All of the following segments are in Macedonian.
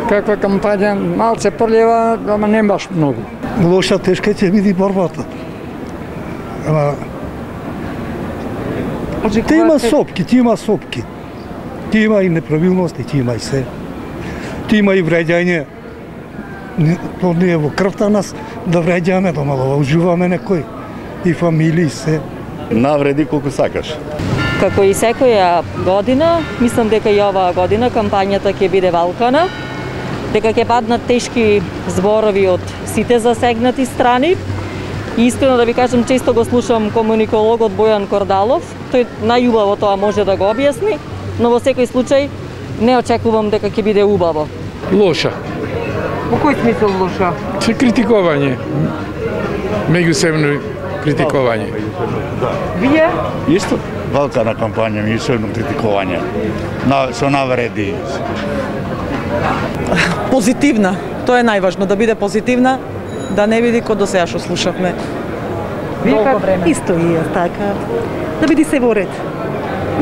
Каква кампања, малце прљева, ама не баш многу. Лоша, тешка ќе биде борбата. Ама ти има сопки. Ти има и неправилности, ти има и се. Ти има и вреѓање. То не е во крвта нас да вреѓаме, да мало уживаме некој. И фамилии се. Навреди колку сакаш. Како и секоја година, мислам дека и оваа година кампањата ќе биде валкана, дека ќе паднат тешки зборови од сите засегнати страни. И искрено да ви кажам, често го слушам комуникологот Бојан Кордалов, тој најубаво тоа може да го објасни, но во секој случај не очекувам дека ќе биде убаво. Лоша. Во кој смисол лоша? Се критикување. Меѓусебно критикување. Вие? Исто валкана кампања, меѓусебно критикување. Со навреди. Позитивна. Тоа е најважно, да биде позитивна, да не биде како до сега што слушавме. Вие как време? Исто и така. Да биде се во ред.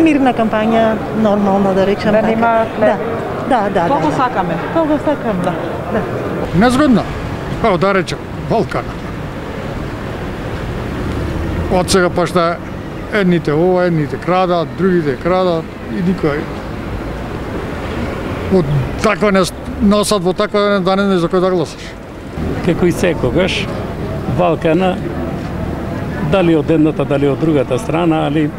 Мирна кампања, нормална да речам. Да нема хлеб. Да. Тоа го сакаме. Тоа го сакам, да. Незгодна. Па да речем, валкана. Од сега па што едните ова, едните крадат, другите крадат и никој. Од таква не носат во таква да не за кој да гласаш. Како и секогаш, валкана, дали од едната, дали од другата страна, али